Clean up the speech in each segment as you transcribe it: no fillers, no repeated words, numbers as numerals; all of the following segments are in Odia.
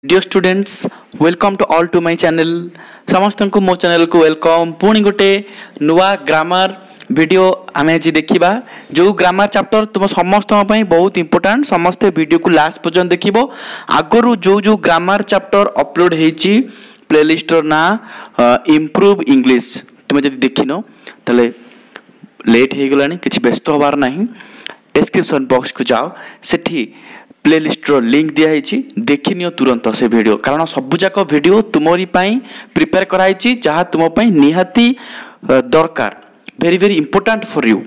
Dear students, welcome to all to my channel. ସମସ୍ତଙ୍କୁ ମୋ ଚ୍ୟାନେଲକୁ welcome. ପୁଣି ଗୋଟେ ନୂଆ ଗ୍ରାମାର ଭିଡ଼ିଓ ଆମେ ଆଜି ଦେଖିବା, ଯେଉଁ ଗ୍ରାମାର ଚାପ୍ଟର ତୁମ ସମସ୍ତଙ୍କ ପାଇଁ ବହୁତ ଇମ୍ପୋର୍ଟାଣ୍ଟ। ସମସ୍ତେ ଭିଡ଼ିଓକୁ ଲାଷ୍ଟ ପର୍ଯ୍ୟନ୍ତ ଦେଖିବ। ଆଗରୁ ଯେଉଁ ଯେଉଁ ଗ୍ରାମାର ଚାପ୍ଟର ଅପଲୋଡ଼ ହେଇଛି, ପ୍ଲେଲିଷ୍ଟର ନାଁ ଇମ୍ପ୍ରୁଭ୍ ଇଂଲିଶ, ତୁମେ ଯଦି ଦେଖିନ ତାହେଲେ ଲେଟ୍ ହେଇଗଲାଣି, କିଛି ବ୍ୟସ୍ତ ହେବାର ନାହିଁ। ଡେସ୍କ୍ରିପସନ୍ ବକ୍ସକୁ ଯାଅ, ସେଠି ପ୍ଲେଲିଷ୍ଟର ଲିଙ୍କ ଦିଆହେଇଛି, ଦେଖିନିଅ ତୁରନ୍ତ ସେ ଭିଡ଼ିଓ, କାରଣ ସବୁଯାକ ଭିଡ଼ିଓ ତୁମରି ପାଇଁ ପ୍ରିପେୟାର କରାହେଇଛି, ଯାହା ତୁମ ପାଇଁ ନିହାତି ଦରକାର, very very important for you.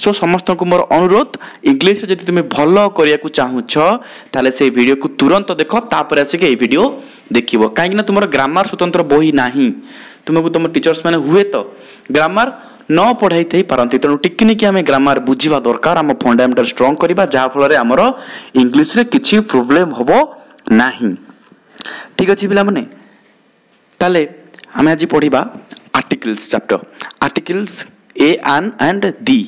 So ସମସ୍ତଙ୍କୁ ମୋର ଅନୁରୋଧ, ଇଂଲିଶରେ ଯଦି ତୁମେ ଭଲ କରିବାକୁ ଚାହୁଁଛ ତାହେଲେ ସେଇ ଭିଡ଼ିଓକୁ ତୁରନ୍ତ ଦେଖ, ତାପରେ ଆସିକି ଏଇ ଭିଡ଼ିଓ ଦେଖିବ। କାହିଁକିନା ତୁମର ଗ୍ରାମାର ସ୍ୱତନ୍ତ୍ର ବହି ନାହିଁ, ତୁମକୁ ତୁମ ଟିଚର୍ସ ମାନେ ହୁଏତ ଗ୍ରାମାର ନ ପଢ଼ାଇଥାଇ ପାରନ୍ତି। ତେଣୁ ଟିକିନିକି ଆମେ ଗ୍ରାମାର ବୁଝିବା ଦରକାର, ଆମ ଫଣ୍ଡାମେଣ୍ଟାଲ ଷ୍ଟ୍ରଙ୍ଗ କରିବା, ଯାହାଫଳରେ ଆମର ଇଂଲିଶରେ କିଛି ପ୍ରୋବ୍ଲେମ୍ ହେବ ନାହିଁ। ଠିକ୍ ଅଛି ପିଲାମାନେ, ତାହେଲେ ଆମେ ଆଜି ପଢ଼ିବା articles chapter, articles a, an and the.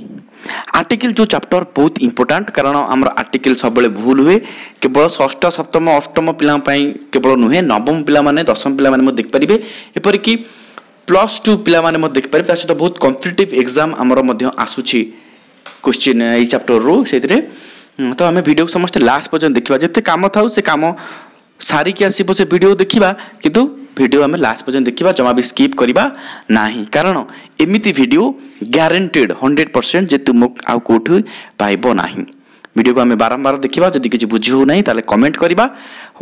Article ଯେଉଁ ଚାପ୍ଟର ବହୁତ ଇମ୍ପୋର୍ଟାଣ୍ଟ, କାରଣ ଆମର ଆର୍ଟିକିଲ୍ ସବୁବେଳେ ଭୁଲ ହୁଏ। କେବଳ ଷଷ୍ଠ, ସପ୍ତମ, ଅଷ୍ଟମ ପିଲାଙ୍କ ପାଇଁ କେବଳ ନୁହେଁ, ନବମ ପିଲାମାନେ, ଦଶମ ପିଲାମାନେ ମଧ୍ୟ ଦେଖିପାରିବେ, ଏପରିକି ପ୍ଲସ୍ ଟୁ ପିଲାମାନେ ମଧ୍ୟ ଦେଖିପାରିବେ। ତା ସହିତ ବହୁତ କମ୍ପିଟେଟିଭ୍ ଏକ୍ଜାମ୍ ଆମର ମଧ୍ୟ ଆସୁଛି କୋଶ୍ଚିନ୍ ଏଇ ଚାପ୍ଟରରୁ। ସେଇଥିରେ ତ ଆମେ ଭିଡ଼ିଓକୁ ସମସ୍ତେ ଲାଷ୍ଟ ପର୍ଯ୍ୟନ୍ତ ଦେଖିବା। ଯେତେ କାମ ଥାଉ ସେ କାମ ସାରିକି ଆସିବ ସେ ଭିଡ଼ିଓ ଦେଖିବା, କିନ୍ତୁ ଭିଡ଼ିଓ ଆମେ ଲାଷ୍ଟ ପର୍ଯ୍ୟନ୍ତ ଦେଖିବା, ଜମା ବି ସ୍କିପ୍ କରିବା ନାହିଁ, କାରଣ ଏମିତି ଭିଡ଼ିଓ ଗ୍ୟାରେଣ୍ଟେଡ଼ 100% ଯେ ତୁମକୁ ଆଉ କେଉଁଠି ପାଇବ ନାହିଁ। ଭିଡ଼ିଓକୁ ଆମେ ବାରମ୍ବାର ଦେଖିବା, ଯଦି କିଛି ବୁଝି ହେଉନାହିଁ ତାହେଲେ କମେଣ୍ଟ କରିବା।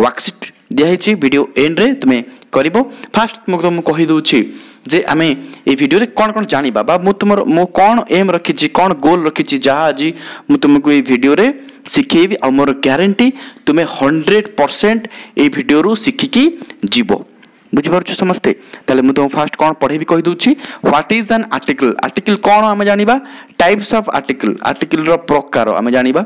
ୱାର୍କସିଟ୍ ଦିଆହେଇଛି ଭିଡ଼ିଓ ଏଣ୍ଡରେ, ତୁମେ କରିବ। ଫାଷ୍ଟ ମୁଁ କହିଦେଉଛି ଯେ ଆମେ ଏଇ ଭିଡ଼ିଓରେ କ'ଣ କ'ଣ ଜାଣିବା, ବା ମୁଁ ତୁମର ମୁଁ କ'ଣ ଏମ୍ ରଖିଛି, କ'ଣ ଗୋଲ୍ ରଖିଛି, ଯାହା ଆଜି ମୁଁ ତୁମକୁ ଏଇ ଭିଡ଼ିଓରେ ଶିଖେଇବି। ଆଉ ମୋର ଗ୍ୟାରେଣ୍ଟି ତୁମେ 100% ଏଇ ଭିଡ଼ିଓରୁ ଶିଖିକି ଯିବ। ବୁଝିପାରୁଛ ସମସ୍ତେ? ତାହେଲେ ମୁଁ ତୁମକୁ ଫାଷ୍ଟ କ'ଣ ପଢ଼େଇବି କହିଦେଉଛି। What is an article, article କ'ଣ ଆମେ ଜାଣିବା। ଟାଇପ୍ସ ଅଫ୍ ଆର୍ଟିକଲ୍, ଆର୍ଟିକଲ୍ର ପ୍ରକାର ଆମେ ଜାଣିବା।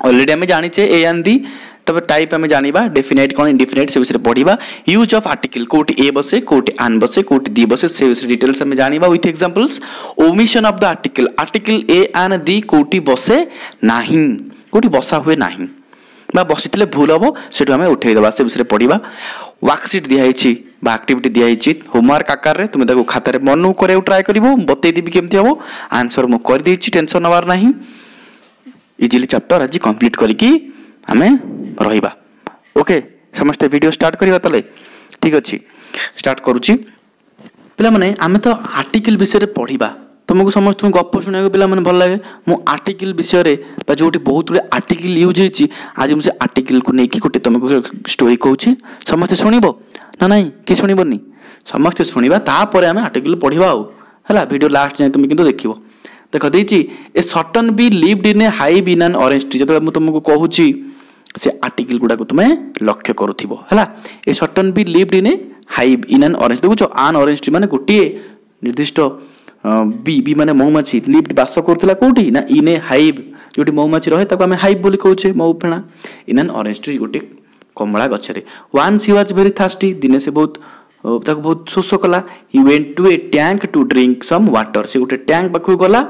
ଅଲରେଡ଼ି ଆମେ ଜାଣିଛେ ଏ ଆନ୍ ଦି, ତାପରେ ଟାଇପ୍ ଆମେ ଜାଣିବା, ଡେଫିନାଇଟ୍ କ'ଣ, ଇନଡେଫିନାଇଟ୍, ସେ ବିଷୟରେ ପଢ଼ିବା। ୟୁଜ୍ ଅଫ୍ ଆର୍ଟିକଲ୍, କେଉଁଠି ଏ ବସେ, କେଉଁଠି ଆନ୍ ବସେ, କେଉଁଠି ଦି ବସେ, ସେ ବିଷୟରେ ଡିଟେଲ୍ସ ଆମେ ଜାଣିବା with examples. Omission of the article, article a, an, the କେଉଁଠି ବସେ ନାହିଁ, କେଉଁଠି ବସା ହୁଏ ନାହିଁ ବା ବସିଥିଲେ ଭୁଲ ହେବ, ସେଠୁ ଆମେ ଉଠେଇଦେବା, ସେ ବିଷୟରେ ପଢ଼ିବା। ୱାର୍କସିଟ୍ ଦିଆହେଇଛି ବା ଆକ୍ଟିଭିଟି ଦିଆହେଇଛି ହୋମୱାର୍କ ଆକାରରେ, ତୁମେ ତାକୁ ଖାତାରେ ମନକୁ କରିବାକୁ ଟ୍ରାଏ କରିବ, ମୁଁ ବତେଇଦେବି କେମିତି ହେବ। ଆନ୍ସର ମୁଁ କରିଦେଇଛି, ଟେନସନ୍ ନେବାର ନାହିଁ। ଇଜିଲି ଚାପ୍ଟର ଆଜି କମ୍ପ୍ଲିଟ୍ କରିକି ଆମେ ରହିବା। ଓକେ, ସମସ୍ତେ ଭିଡ଼ିଓ ଷ୍ଟାର୍ଟ କରିବା ତାହେଲେ? ଠିକ୍ ଅଛି, ଷ୍ଟାର୍ଟ କରୁଛି। ପିଲାମାନେ, ଆମେ ତ ଆର୍ଟିକିଲ୍ ବିଷୟରେ ପଢ଼ିବା। ତୁମକୁ ସମସ୍ତଙ୍କୁ ଗପ ଶୁଣିବାକୁ ପିଲାମାନେ ଭଲ ଲାଗେ। ମୁଁ ଆର୍ଟିକିଲ୍ ବିଷୟରେ ବା ଯେଉଁଠି ବହୁତ ଗୁଡ଼ିଏ ଆର୍ଟିକିଲ୍ ୟୁଜ୍ ହେଇଛି, ଆଜି ମୁଁ ସେ ଆର୍ଟିକିଲ୍କୁ ନେଇକି ଗୋଟେ ତୁମକୁ ଷ୍ଟୋରି କହୁଛି। ସମସ୍ତେ ଶୁଣିବ ନା ନାହିଁ? କି ଶୁଣିବନି? ସମସ୍ତେ ଶୁଣିବା, ତାପରେ ଆମେ ଆର୍ଟିକିଲ୍ ପଢ଼ିବା। ଆଉ ହେଲା, ଭିଡ଼ିଓ ଲାଷ୍ଟ ଯାଏଁ ତୁମେ କିନ୍ତୁ ଦେଖିବ। ଦେଖ ଦେଇଛି, a certain bee lived in a hive in an orange tree. ଯେତେବେଳେ ମୁଁ ତୁମକୁ କହୁଛି ସେ ଆର୍ଟିକିଲ୍ ଗୁଡ଼ାକୁ ତୁମେ ଲକ୍ଷ୍ୟ କରୁଥିବ। ହେଲା, a certain bee lived in a hive in an orange. ଦେଖୁଛ, ଆନ୍ ଅରେଞ୍ଜ ଟ୍ରି ମାନେ ଗୋଟିଏ ନିର୍ଦ୍ଦିଷ୍ଟ ବି, ବି ମାନେ ମହୁମାଛି, ଲିଭ୍ଡ ବାସ କରୁଥିଲା କେଉଁଠି ନା ଇନ୍ ଏ ହାଇଭ୍, ଯେଉଁଠି ମହୁମାଛି ରହେ ତାକୁ ଆମେ ହାଇଭ୍ ବୋଲି କହୁଛେ, ମହୁଫେଣା। ଇନ୍ ଆନ୍ ଅରେଞ୍ଜ ଟ୍ରି, ଗୋଟିଏ କମଳା ଗଛରେ। Once he was very thirsty, ଦିନେ ସେ ବହୁତ ତାକୁ ବହୁତ ଶୋଷ କଲା। He went to a tank to drink some water, ସେ ଗୋଟେ ଟ୍ୟାଙ୍କ ପାଖକୁ ଗଲା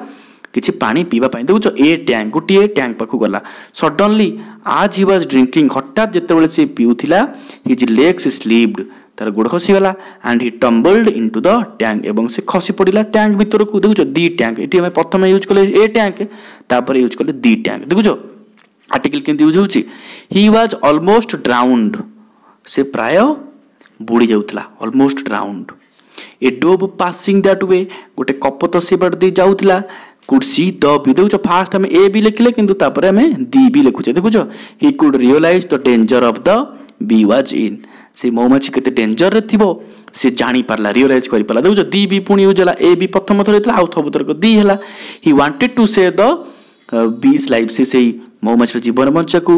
କିଛି ପାଣି ପିଇବା ପାଇଁ। ଦେଖୁଛ, ଏ ଟ୍ୟାଙ୍କ, ଗୋଟିଏ ଟ୍ୟାଙ୍କ ପାଖକୁ ଗଲା। Suddenly as he was drinking, ହଠାତ୍ ଯେତେବେଳେ ସେ ପିଉଥିଲା, his legs ସ୍ଲିପ୍ଡ, ତାର ଗୋଡ଼ ଖସିଗଲା, and he tumbled into the tank, ଏବଂ ସେ ଖସି ପଡ଼ିଲା ଟ୍ୟାଙ୍କ ଭିତରକୁ। ଦେଖୁଛ, ଦି ଟ୍ୟାଙ୍କ, ଏଠି ଆମେ ପ୍ରଥମେ ୟୁଜ୍ କଲେ ଏ ଟ୍ୟାଙ୍କ, ତାପରେ ୟୁଜ୍ କଲେ ଦି ଟ୍ୟାଙ୍କ। ଦେଖୁଛ ଆର୍ଟିକିଲ୍ କେମିତି ୟୁଜ୍ ହେଉଛି। He was almost ଡ୍ରାଉଣ୍ଡ, ସେ ପ୍ରାୟ ବୁଡ଼ି ଯାଉଥିଲା, almost drowned. A dove passing that way, ଗୋଟେ କପୋତ ସେ ବାଟ ଦେଇ ଯାଉଥିଲା, could C ଦ ବି। ଦେଖୁଛ, ଫାଷ୍ଟ ଆମେ ଏ ବି ଲେଖିଲେ, କିନ୍ତୁ ତାପରେ ଆମେ ଦି ବି ଲେଖୁଛେ। ଦେଖୁଛ, he could realise the danger of the bee was in, ସେ ମହୁମାଛି କେତେ ଡେଞ୍ଜରରେ ଥିବ ସେ ଜାଣିପାରିଲା, ରିଅଲାଇଜ୍ କରିପାରିଲା। ଦେଖୁଛ, ଦି ବି ପୁଣି ୟୁଜ୍ ହେଲା, ଏ ବି ପ୍ରଥମ ଥର ହେଇଥିଲା, ଆଉ ସବୁ ଥରକ ଦି ହେଲା। He wanted to save the bee's life, ସେ ସେଇ ମହୁମାଛିର ଜୀବନ ବଞ୍ଚିବାକୁ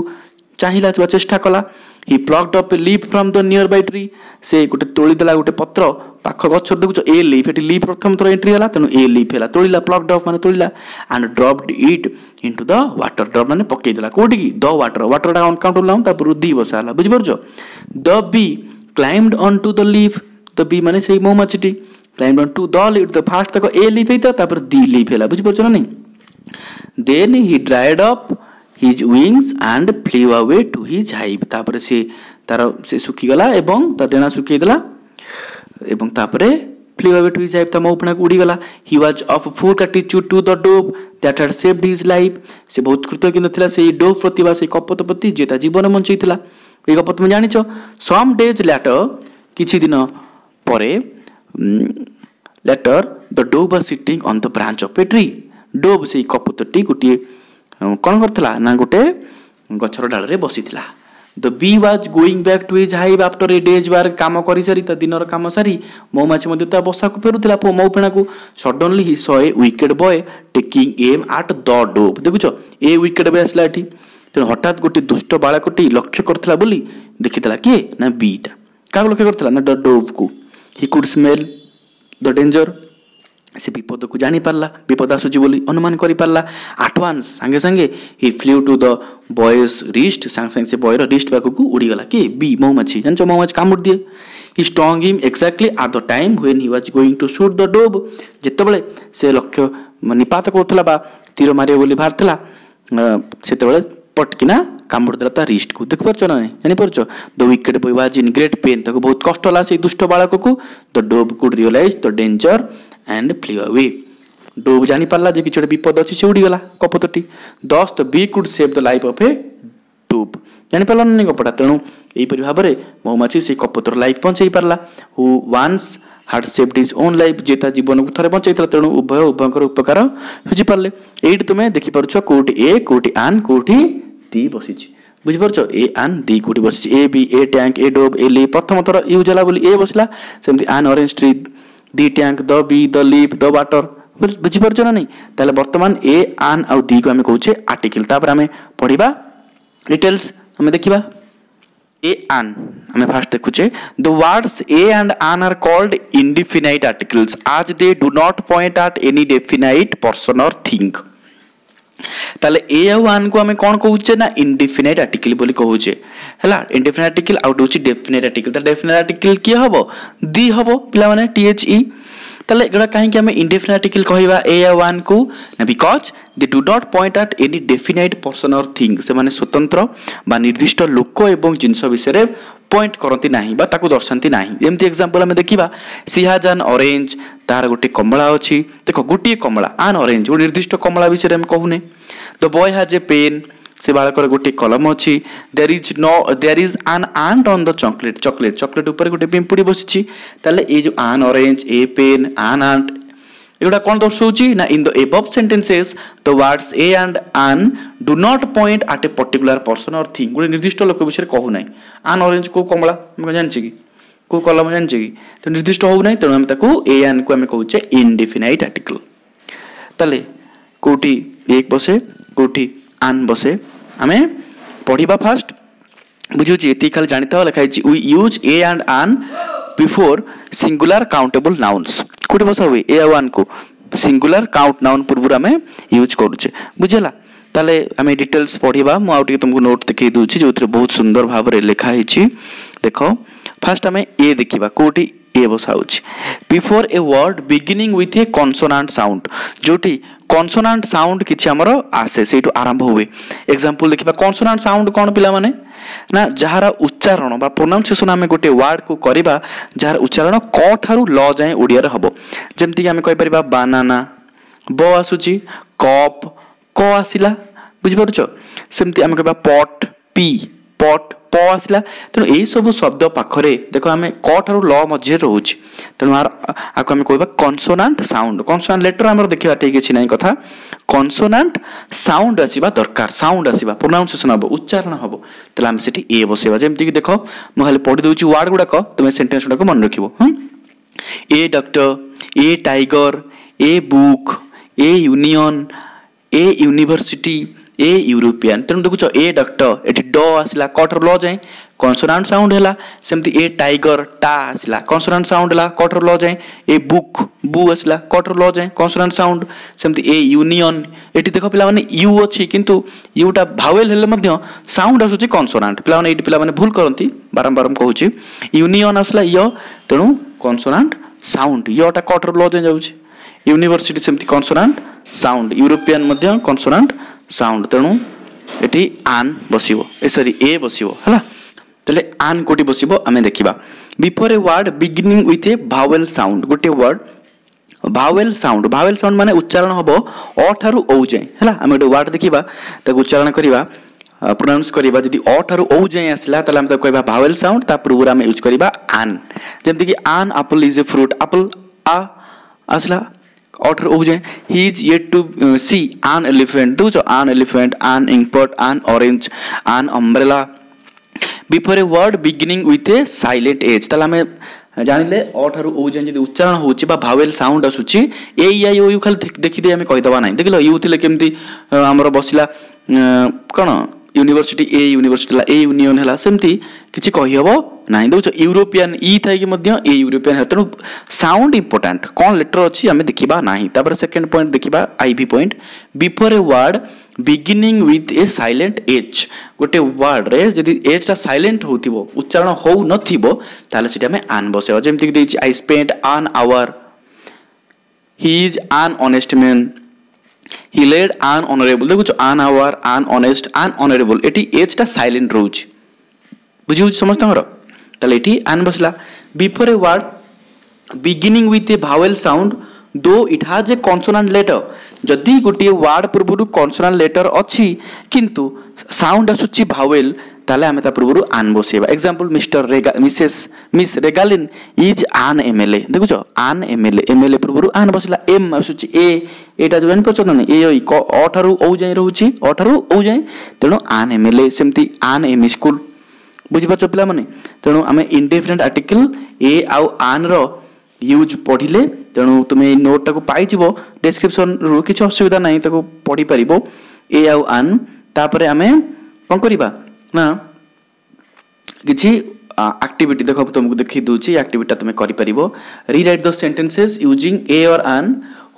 ଚାହିଁଲା ବା ଚେଷ୍ଟା କଲା। He plucked up a leaf from the nearby tree, ସେ ଗୋଟେ ତୋଳିଦେଲା ଗୋଟେ ପତ୍ର ପାଖ ଗଛରୁ। ଦେଖୁଛ, ଏ ଲିଫ୍, ଏଠି ଲିଫ୍ ପ୍ରଥମ ଥର ଏଣ୍ଟ୍ରି ହେଲା, ତେଣୁ ଏ ଲିଫ୍ ହେଲା, ତୋଳିଲା, ପ୍ଲକ୍ଡ ଅପ୍ ମାନେ ତୋଳିଲା, and dropped it into the water, drop ମାନେ ପକେଇଦେଲା କେଉଁଠିକି, ଦ ୱାଟର, ୱାଟରଟା ଅନକାଉଣ୍ଟେବଲ୍ ନାଉନ୍, ତାପରୁ ଦି ବସା ହେଲା। ବୁଝିପାରୁଛ? The bee climbed on to the leaf, the bee ମାନେ ସେଇ ମହୁମାଛିଟି, climbed on to the leaf, the first ତାକୁ ଏ ଲିଫ୍ ହେଇଥିଲା, ତାପରେ ଦି ଲିଫ୍ ହେଲା। ବୁଝିପାରୁଛ ନା ନାଇଁ? Then he dried up his wings and flew away to his hive, ତାପରେ ସେ ତାର ସେ ଶୁଖିଗଲା ଏବଂ ତା ଡେଣା ଶୁଖେଇଦେଲା ଏବଂ ତାପରେ flew away to his hive, ତା ମହୁଫେଣାକୁ ଉଡ଼ିଗଲା। He was of full gratitude to the dove that had saved his life. ସେ ବହୁତ କୃତଜ୍ଞ ଥିଲା ସେଇ ଡୋଭ୍ ପ୍ରତି ବା ସେଇ କପୋତ ପ୍ରତି ଯିଏ ତା ଜୀବନ ବଞ୍ଚେଇଥିଲା। ଏଇ ଗପ ତୁମେ ଜାଣିଛ। ସମ୍ ଡେଜ୍ ଲ୍ୟାଟର, କିଛି ଦିନ ପରେ, later the dove was sitting on the branch of a tree. Dove ସେଇ କପୋତଟି ଗୋଟିଏ କ'ଣ କରିଥିଲା ନା ଗୋଟେ ଗଛର ଡାଳରେ ବସିଥିଲା। The bee was going back to his hive after a day's work. କାମ କରିସାରି, ତା ଦିନର କାମ ସାରି ମହୁମାଛି ମଧ୍ୟ ତା ବସାକୁ ଫେରୁଥିଲା, ମହୁଫେଣାକୁ। Suddenly he saw a wicked boy taking aim at the dove. ଦେଖୁଛ, ଏ ୱିକେଡ୍ ବୟ ଆସିଲା ଏଠି। ତେଣୁ ହଠାତ୍ ଗୋଟିଏ ଦୁଷ୍ଟ ବାଳକଟି ଲକ୍ଷ୍ୟ କରିଥିଲା ବୋଲି ଦେଖିଥିଲା। କିଏ ନା ବିଟା। କାହାକୁ ଲକ୍ଷ୍ୟ କରିଥିଲା ନା ଦ ଡୋଭ୍କୁ। He could smell the danger. ସେ ବିପଦକୁ ଜାଣିପାରିଲା, ବିପଦ ଆସୁଛି ବୋଲି ଅନୁମାନ କରିପାରିଲା। ଆଟ୍ ୱାନ୍ସ, ସାଙ୍ଗେ ସାଙ୍ଗେ, he flew to the boy's wrist. ସାଙ୍ଗେ ସାଙ୍ଗେ ସେ ବୟର ରିଷ୍ଟ ପାଖକୁ ଉଡ଼ିଗଲା। କିଏ? ବି, ମହୁମାଛି। ଜାଣିଛ, ମହୁମାଛି କାମୁଡ଼ି ଦିଏ। He stung him exactly at the time when he was going to shoot the dove. ଯେତେବେଳେ ସେ ଲକ୍ଷ୍ୟ ନିପାତ କରୁଥିଲା ବା ତୀର ମାରିବ ବୋଲି ବାହାରିଥିଲା, ସେତେବେଳେ ପଟକିନା କାମୁଡ଼ି ଦେଲା ତା ରିଷ୍ଟକୁ। ଦେଖିପାରୁଛ ନା ନାହିଁ? ଜାଣିପାରୁଛ? The wicked boy was in great pain. ତାକୁ ବହୁତ କଷ୍ଟ ହେଲା ସେଇ ଦୁଷ୍ଟ ବାଳକକୁ। The dove could realize the danger and flew away. Dove ଜାଣିପାରିଲା ଯେ କିଛି ଗୋଟେ ବିପଦ ଅଛି, ସେ ଉଡ଼ିଗଲା କପୋତଟି। Thus the bee could save the life of a dove. ଜାଣିପାରିଲା ନା ଗପଟା? ତେଣୁ ଏହିପରି ଭାବରେ ମହୁମାଛି ସେଇ କପୋତର ଲାଇଫ୍ ବଞ୍ଚେଇ ପାରିଲା, who once had saved his own life, ଯିଏ ତା ଜୀବନକୁ ଥରେ ବଞ୍ଚେଇଥିଲା। ତେଣୁ ଉଭୟ ଉଭୟଙ୍କର ଉପକାର ବୁଝିପାରିଲେ। ଏଇଠି ତୁମେ ଦେଖିପାରୁଛ କୋଉଠି ଏ, କୋଉଠି ଆନ୍, କୋଉଠି ଦି ବସିଛି। ବୁଝିପାରୁଛ? ଏ, ଆନ୍, ଦି କୋଉଠି ବସିଛି। A bee, a tank, a dove, a leaf. ପ୍ରଥମ ଥର ୟୁଜ୍ ହେଲା ବୋଲି ଏ ବସିଲା। ସେମିତି an orange tree, the tank, the bee, the leaf, the water. ବୁଝିପାରୁଛ ନା ନାହିଁ? ତାହେଲେ ବର୍ତ୍ତମାନ ଏ, ଆନ୍ ଆଉ ଦିକୁ ଆମେ କହୁଛେ ଆର୍ଟିକିଲ। ତାପରେ ଆମେ ପଢ଼ିବା ଡିଟେଲ୍ସ, ଆମେ ଦେଖିବା ଏ, ଆନ୍। ଆମେ ଫାଷ୍ଟ ଦେଖୁଛେ, the words a and an are called indefinite articles as they do not point at any definite person or thing. ତାହେଲେ ଏ ଆଉ ଆନ୍କୁ ଆମେ କ'ଣ କହୁଛେ ନା ଇନଡିଫିନାଇଟ୍ ଆର୍ଟିକଲ ବୋଲି କହୁଛେ। ହେଲା, ଇନଡିଫିନାଇଟ୍ ଆର୍ଟିକଲ ଆଉ ଗୋଟେ ହେଉଛି ଡେଫିନାଇଟ୍ ଆର୍ଟିକଲ। ତାହେଲେ ଡେଫିନାଇଟ୍ ଆର୍ଟିକଲ କିଏ ହବ? ଦି ହବ ପିଲାମାନେ, THE। ତାହେଲେ ଏଗୁଡ଼ା କାହିଁକି ଆମେ ଇନଡେଫିନାଇଟ୍ ଆର୍ଟିକଲ କହିବା ଏ ଆଉ ଆନ୍କୁ ନା because they do not point at any definite person or thing. ସେମାନେ ସ୍ୱତନ୍ତ୍ର ବା ନିର୍ଦ୍ଦିଷ୍ଟ ଲୋକ ଏବଂ ଜିନିଷ ବିଷୟରେ ପଏଣ୍ଟ କରନ୍ତି ନାହିଁ ବା ତାକୁ ଦର୍ଶାନ୍ତି ନାହିଁ। ଯେମିତି ଏକ୍ସାମ୍ପଲ ଆମେ ଦେଖିବା, she has an orange. ତାର ଗୋଟେ କମଳା ଅଛି। ଦେଖ, ଗୋଟିଏ କମଳା, ଆନ୍ ଅରେଞ୍ଜ, ଗୋଟେ ନିର୍ଦ୍ଦିଷ୍ଟ କମଳା ବିଷୟରେ ଆମେ କହୁନେ। The boy has a pen. ସେ ବାଳକର ଗୋଟିଏ କଲମ ଅଛି। There is no there is an ant on the chocolate. Chocolate ଉପରେ ଗୋଟେ ପିମ୍ପୁଡ଼ି ବସିଛି। ତାହେଲେ ଏଇ ଯେଉଁ an orange, a pen, an ant, ଏଗୁଡ଼ା କ'ଣ ଦର୍ଶାଉଛି ନା in the above sentences the words a and an do not point at a particular person or thing. ଗୋଟେ ନିର୍ଦ୍ଦିଷ୍ଟ ଲୋକ ବିଷୟରେ କହୁନାହିଁ। ଆନ୍ ଅରେଞ୍ଜ, କେଉଁ କମଳା ଆମେ ଜାଣିଛେ କି? କେଉଁ କଲମ ଜାଣିଛେ କି? ତ ନିର୍ଦ୍ଦିଷ୍ଟ ହେଉନାହିଁ। ତେଣୁ ଆମେ ତାକୁ ଏ ଆନ୍କୁ ଆମେ କହୁଛେ ଇନଡିଫିନାଇଟ୍ ଆର୍ଟିକଲ। ତାହେଲେ କେଉଁଠି ଏ ବସେ, କେଉଁଠି ଆନ୍ ବସେ, ଆମେ ପଢ଼ିବା ଫାଷ୍ଟ। ବୁଝୁଛି? ଏତିକି ଖାଲି ଜାଣିଥାଅ। ଲେଖା ହେଇଛି, we use a and an before singular countable nouns. କୋଉଠି ବସା ହୁଏ ଏ ଆଉ ଆନ୍କୁ? ସିଙ୍ଗୁଲାର କାଉଣ୍ଟ ନାଉନ୍ ପୂର୍ବରୁ ଆମେ ୟୁଜ୍ କରୁଛେ। ବୁଝିଲା? ତାହେଲେ ଆମେ ଡିଟେଲ୍ସ ପଢ଼ିବା। ମୁଁ ଆଉ ଟିକେ ତୁମକୁ ନୋଟ୍ ଦେଖେଇ ଦେଉଛି ଯେଉଁଥିରେ ବହୁତ ସୁନ୍ଦର ଭାବରେ ଲେଖା ହେଇଛି। ଦେଖ, ଫାଷ୍ଟ ଆମେ ଏ ଦେଖିବା, କୋଉଠି ଏ ବସା ହେଉଛି। Before a word beginning with a consonant sound. ଯେଉଁଠି କନସୋନାଣ୍ଟ ସାଉଣ୍ଡ କିଛି ଆମର ଆସେ, ସେଇଠୁ ଆରମ୍ଭ ହୁଏ। ଏକ୍ସାମ୍ପଲ ଦେଖିବା। କନସୋନାଣ୍ଟ ସାଉଣ୍ଡ କ'ଣ ପିଲାମାନେ ନା ଯାହାର ଉଚ୍ଚାରଣ ବା ପ୍ରୋନାଉନ୍ସିଏସନ୍ ଆମେ ଗୋଟେ ୱାର୍ଡକୁ କରିବା, ଯାହାର ଉଚ୍ଚାରଣ କ ଠାରୁ ଲ ଯାଏଁ ଓଡ଼ିଆରେ ହେବ। ଯେମିତିକି ଆମେ କହିପାରିବା ବାନାନା, ବ ଆସୁଛି, କପ୍, କ ଆସିଲା। ବୁଝିପାରୁଛ? ସେମିତି ଆମେ କହିବା ପଟ୍, ପି, ପଟ୍, ପ ଆସିଲା। ତେଣୁ ଏଇସବୁ ଶବ୍ଦ ପାଖରେ ଦେଖ, ଆମେ କ ଠାରୁ ଲ ମଝିରେ ରହୁଛି। ତେଣୁ ଆକୁ ଆମେ କହିବା କନସୋନାଣ୍ଟ ସାଉଣ୍ଡ। କନସୋନାଣ୍ଟ ଲେଟର ଆମର ଦେଖିବା ଠିକ୍ କିଛି ନାହିଁ କଥା। କନସୋନାଣ୍ଟ ସାଉଣ୍ଡ ଆସିବା ଦରକାର। ସାଉଣ୍ଡ ଆସିବା, ପ୍ରୋନାଉନ୍ସିଏସନ୍ ହେବ, ଉଚ୍ଚାରଣ ହେବ, ତାହେଲେ ଆମେ ସେଠି ଏ ବସେଇବା। ଯେମିତିକି ଦେଖ, ମୁଁ ଖାଲି ପଢ଼ି ଦେଉଛି ୱାର୍ଡ ଗୁଡ଼ାକ, ତୁମେ ସେଣ୍ଟେନ୍ସ ଗୁଡ଼ାକ ମନେ ରଖିବ। ହଁ, a doctor, a tiger, a book, a union, a university, a European. ତେଣୁ ଦେଖୁଛ, ଏ ଡକ୍ଟର, ଏଠି ଡ ଆସିଲା, କ ଠାରୁ ଲ ଯାଏଁ କନସୋନାଣ୍ଟ ସାଉଣ୍ଡ ହେଲା। ସେମିତି ଏ ଟାଇଗର, ଟା ଆସିଲା, କନସୋନାଣ୍ଟ ସାଉଣ୍ଡ ହେଲା କ ଠାରୁ ଲ ଯାଏଁ। ଏ ବୁକ୍, ବୁ ଆସିଲା, କ ଠାରୁ ଲ ଯାଏଁ କନସୋନାଣ୍ଟ ସାଉଣ୍ଡ। ସେମିତି ଏ ୟୁନିୟନ, ଏଠି ଦେଖ ପିଲାମାନେ, you ଅଛି, କିନ୍ତୁ ୟୁଟା ଭାୱେଲ ହେଲେ ମଧ୍ୟ ସାଉଣ୍ଡ ଆସୁଛି କନସୋନାଣ୍ଟ। ପିଲାମାନେ, ଏଇଠି ପିଲାମାନେ ଭୁଲ କରନ୍ତି, ବାରମ୍ବାର ମୁଁ କହୁଛି। ୟୁନିୟନ ଆସିଲା ୟ, ତେଣୁ କନସୋନାଣ୍ଟ ସାଉଣ୍ଡ, ୟଟା କ ଠାରୁ ଲ ଯାଏଁ ଯାଉଛି। ୟୁନିଭର୍ସିଟି ସେମିତି କନସୋନାଣ୍ଟ ସାଉଣ୍ଡ, ୟୁରୋପିଆନ ମଧ୍ୟ କନସୋନାଣ୍ଟ ସାଉଣ୍ଡ। ତେଣୁ ଏଠି ଆନ୍ ବସିବ, ଏ ସରି, ଏ ବସିବ। ହେଲା? ତାହେଲେ ଆନ୍ କୋଉଠି ବସିବ ଆମେ ଦେଖିବା। Before a word beginning with a vowel sound, ଗୋଟିଏ word vowel sound, vowel sound ମାନେ ଉଚ୍ଚାରଣ ହେବ ଅ ଠାରୁ ଔ ଯାଏଁ, ହେଲା। ଆମେ ଗୋଟେ ୱାର୍ଡ ଦେଖିବା, ତାକୁ ଉଚ୍ଚାରଣ କରିବା, ପ୍ରୋନାଉନ୍ସ କରିବା, ଯଦି ଅ ଠାରୁ ଔ ଯାଏଁ ଆସିଲା ତାହେଲେ ଆମେ ତାକୁ କହିବା ଭାୱେଲ୍ ସାଉଣ୍ଡ, ତା ପୂର୍ବରୁ ଆମେ ୟୁଜ୍ କରିବା ଆନ୍। ଯେମିତିକି an apple is a fruit, apple ଆ ଆସିଲା ଅ ଠାରୁ ଔ ଯାଏଁ। He is yet to see an elephant, ଦେଖୁଛ an elephant, an inkpot, an orange, an umbrella. Before a word beginning with a silent H, ତାହେଲେ ଆମେ ଜାଣିଲେ ଅ ଠାରୁ ଔ ଯାଏଁ ଯଦି ଉଚ୍ଚାରଣ ହେଉଛି ବା ଭାୱେଲ୍ ସାଉଣ୍ଡ ଆସୁଛି, ଏ ଇ I O you ଖାଲି ଦେଖିଦେଇ ଆମେ କହିଦେବା ନାହିଁ। ଦେଖିଲ you ଥିଲେ କେମିତି ଆମର ବସିଲା କ'ଣ ୟୁନିଭର୍ସିଟି, ଏ ୟୁନିଭର୍ସିଟି ହେଲା, ଏ ୟୁନିୟନ ହେଲା, ସେମିତି କିଛି କହିହେବ ନାହିଁ। ଦେଖୁଛ ୟୁରୋପିଆନ୍ ଇ ଥାଇକି ମଧ୍ୟ ଏ ୟୁରୋପିଆନ୍ ହେଲା। ତେଣୁ ସାଉଣ୍ଡ ଇମ୍ପୋର୍ଟାଣ୍ଟ, କ'ଣ ଲେଟର ଅଛି ଆମେ ଦେଖିବା ନାହିଁ। ତାପରେ ସେକେଣ୍ଡ ପଏଣ୍ଟ ଦେଖିବା, I V point. Before a word beginning with a silent H, ଗୋଟେ ୱାର୍ଡରେ ଯଦି ଏଚ୍ଟା ସାଇଲେଣ୍ଟ ହେଉଥିବ, ଉଚ୍ଚାରଣ ହେଉନଥିବ, ତାହେଲେ ସେଠି ଆମେ ଆନ୍ ବସେଇବା। ଯେମିତିକି ଦେଇଛି I spend an hour, he is an honest man, he led an honourable. ଦେଖୁଛ an hour, an honest, an honourable, ଏଠି ଏଚ୍ଟା ସାଇଲେଣ୍ଟ ରହୁଛି। ବୁଝି ହେଉଛି ସମସ୍ତଙ୍କର? ତାହେଲେ ଏଠି ଆନ୍ ବସିଲା। Before a word beginning with a vowel sound though it has a consonant letter, ଯଦି ଗୋଟିଏ ୱାର୍ଡ ପୂର୍ବରୁ କନସୋନାଣ୍ଟ ଲେଟର ଅଛି କିନ୍ତୁ ସାଉଣ୍ଡ ଆସୁଛି ଭାୱେଲ୍, ତାହେଲେ ଆମେ ତା ପୂର୍ବରୁ ଆନ୍ ବସେଇବା। Example mister Rega Mrs Miss Regaline is an M L A. ଦେଖୁଛ an M L A, M L A ପୂର୍ବରୁ ଆନ୍ ବସିଲା, ଏମ୍ ଆସୁଛି ଏ, ଏଇଟା ଯେଉଁ ଜାଣିପାରୁଛ ନା ଏ ଅ ଠାରୁ ଔ ଯାଏଁ ରହୁଛି, ଅ ଠାରୁ ଔ ଯାଏଁ, ତେଣୁ ଆନ୍ ଏମ୍ ଏଲ୍ ଏ। ସେମିତି ଆନ୍ ଏମ୍ ସ୍କୁଲ। ବୁଝିପାରୁଛ ପିଲାମାନେ? ତେଣୁ ଆମେ ଇନଡେଫିନାଇଟ୍ ଆର୍ଟିକଲ ଏ ଆଉ ଆନ୍ର ୟୁଜ୍ ପଢ଼ିଲେ, ତେଣୁ ତୁମେ ଏଇ ନୋଟ୍ଟାକୁ ପାଇଯିବ ଡେସ୍କ୍ରିପସନ୍ରୁ, କିଛି ଅସୁବିଧା ନାହିଁ, ତାକୁ ପଢ଼ିପାରିବ ଏ ଆଉ ଆନ୍। ତାପରେ ଆମେ କ'ଣ କରିବା ନା କିଛି ଆକ୍ଟିଭିଟି ଦେଖ ତୁମକୁ ଦେଖେଇ ଦେଉଛି, ଆକ୍ଟିଭିଟିଟା ତୁମେ କରିପାରିବ। Rewrite the sentences using a or an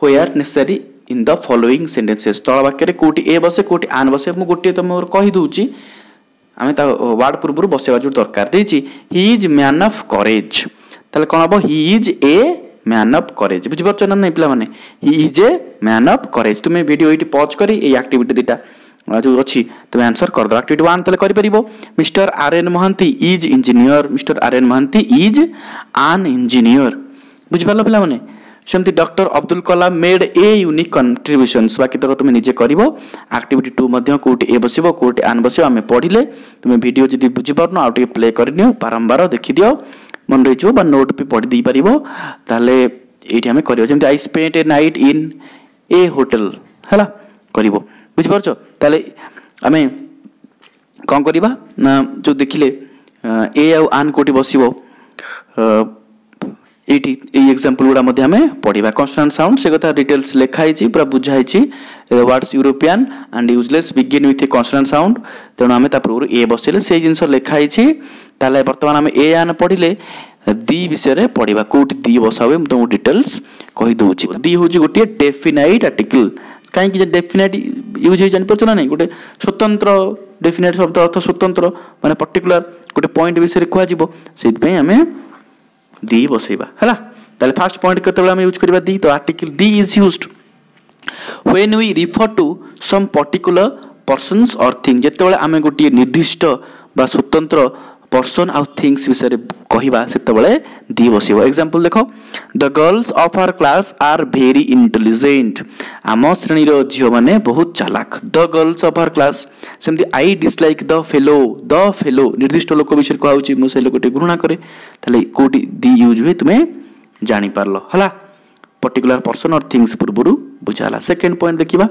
where necessary in the following sentences. ତଳ ବାକ୍ୟରେ କେଉଁଠି ଏ ବସେ କେଉଁଠି ଆନ୍ ବସେ ମୁଁ ଗୋଟିଏ ତୁମର କହିଦେଉଛି, ଆମେ ତା ୱାର୍ଡ଼ ପୂର୍ବରୁ ବସେଇବା ଯେଉଁ ଦରକାର। ଦେଇଛି he is man of courage, ତାହେଲେ କ'ଣ ହେବ? He is a man of courage. ବୁଝିପାରୁଛ ନା ନାଇଁ ପିଲାମାନେ? He is a man of courage. ତୁମେ ଭିଡ଼ିଓ ଏଇଠି ପଜ୍ କରି ଏଇ ଆକ୍ଟିଭିଟି ଦୁଇଟା ଯେଉଁ ଅଛି ତୁମେ ଆନ୍ସର କରିଦେବ। ଆକ୍ଟିଭିଟି 1 ତାହେଲେ କରିପାରିବ। Mister R N Mohanty is engineer, mister R N Mohanty is an engineer. ବୁଝିପାରିଲ ପିଲାମାନେ? ସେମିତି doctor Abdul Kalam made a unique contributions, ବାକି ତକ ତୁମେ ନିଜେ କରିବ। ଆକ୍ଟିଭିଟି 2 ମଧ୍ୟ କେଉଁଠି ଏ ବସିବ କେଉଁଠି ଆନ୍ ବସିବ ଆମେ ପଢ଼ିଲେ। ତୁମେ ଭିଡ଼ିଓ ଯଦି ବୁଝିପାରୁନ ଆଉ ଟିକେ ପ୍ଲେ କରିନିଅ, ବାରମ୍ବାର ଦେଖିଦିଅ, ମନେ ରହିଯିବ, ବା ନୋଟ୍ ବି ପଢ଼ି ଦେଇପାରିବ। ତାହେଲେ ଏଇଠି ଆମେ କରିବା ଯେମିତି I spend a night in a hotel, ହେଲା କରିବ। ବୁଝିପାରୁଛ? ତାହେଲେ ଆମେ କ'ଣ କରିବା ନା ଯେଉଁ ଦେଖିଲେ ଏ ଆଉ ଆନ୍ କେଉଁଠି ବସିବ, ଏଇଠି ଏଇ ଏକ୍ଜାମ୍ପଲ୍ ଗୁଡ଼ା ମଧ୍ୟ ଆମେ ପଢ଼ିବା। କନସୋନାଣ୍ଟ ସାଉଣ୍ଡ ସେ କଥା ଡିଟେଲ୍ସ ଲେଖା ହେଇଛି, ପୁରା ବୁଝା ହେଇଛି। Words European and useless begin with a consonant sound, ତେଣୁ ଆମେ ତା ପୂର୍ବରୁ ଏ ବସେଇଲେ ସେଇ ଜିନିଷ ଲେଖା ହେଇଛି। ତାହେଲେ ବର୍ତ୍ତମାନ ଆମେ ଏ ଆନ୍ ପଢ଼ିଲେ, ଦି ବିଷୟରେ ପଢ଼ିବା, କେଉଁଠି ଦି ବସା ହୁଏ ମୁଁ ତୁମକୁ ଡିଟେଲ୍ସ କହିଦେଉଛି। ଦି ହେଉଛି ଗୋଟିଏ ଡେଫିନାଇଟ୍ ଆର୍ଟିକଲ୍। କାହିଁକି ଯେ ଡେଫିନାଇଟ୍ ୟୁଜ୍ ହେଇ ଜାଣିପାରୁଛ ନା ନାଇଁ? ଗୋଟେ ସ୍ୱତନ୍ତ୍ର ଡେଫିନାଇଟ୍ ଶବ୍ଦ ଅର୍ଥ ସ୍ୱତନ୍ତ୍ର, ମାନେ ପର୍ଟିକୁଲାର ଗୋଟେ ପଏଣ୍ଟ ବିଷୟରେ କୁହାଯିବ, ସେଇଥିପାଇଁ ଆମେ ଦି ବସେଇବା, ହେଲା। ତାହେଲେ ଫାର୍ଷ୍ଟ ପଏଣ୍ଟ କେତେବେଳେ ଆମେ ୟୁଜ୍ କରିବା ଦି? ତ article the is used when we refer to some particular persons or thing। ଯେତେବେଳେ ଆମେ ଗୋଟିଏ ନିର୍ଦ୍ଦିଷ୍ଟ ବା ସ୍ୱତନ୍ତ୍ର ପର୍ସନ୍ ଆଉ ଥିଙ୍ଗସ୍ ବିଷୟରେ କହିବା ସେତେବେଳେ ଦି ବସିବ। ଏକ୍ଜାମ୍ପଲ୍ ଦେଖ, the girls of our class are very intelligent, ଆମ ଶ୍ରେଣୀର ଝିଅମାନେ ବହୁତ ଚାଲାକ। The girls of our class. ସେମିତି I dislike the fellow, the fellow ନିର୍ଦ୍ଦିଷ୍ଟ ଲୋକ ବିଷୟରେ କୁହାହେଉଛି, ମୁଁ ସେ ଲୋକଟି ଘୃଣା କରେ। ତାହେଲେ କେଉଁଠି ଦି ୟୁଜ୍ ହୁଏ ତୁମେ ଜାଣିପାରିଲ, ହେଲା। ପର୍ଟିକୁଲାର ପର୍ସନ୍ ଅର୍ ଥିଙ୍ଗସ୍ ପୂର୍ବରୁ ବୁଝା ହେଲା। ସେକେଣ୍ଡ ପଏଣ୍ଟ ଦେଖିବା,